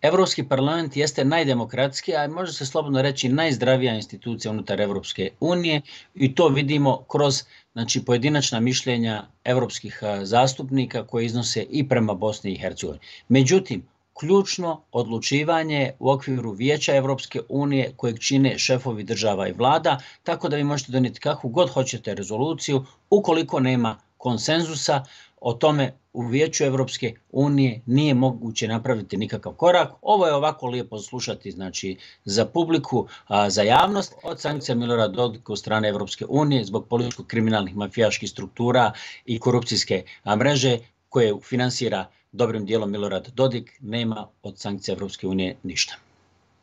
Europski parlament jeste najdemokratskija, a može se slobodno reći najzdravija institucija unutar Europske unije i to vidimo kroz pojedinačna mišljenja europskih zastupnika koje iznose i prema Bosni i Hercegovini. Međutim, ključno odlučivanje u okviru Vijeća Europske unije kojeg čine šefovi država i vlada, tako da vi možete donijeti kakvu god hoćete rezoluciju, ukoliko nema konsenzusa o tome u Vijeću Europske unije nije moguće napraviti nikakav korak. Ovo je ovako lijepo slušati za publiku, za javnost. Od sankcija Milorada Dodika od strane Europske unije zbog političko-kriminalnih mafijaških struktura i korupcijske mreže koje finansira dobrim dijelom Milorad Dodik, nema od sankcija Europske unije ništa.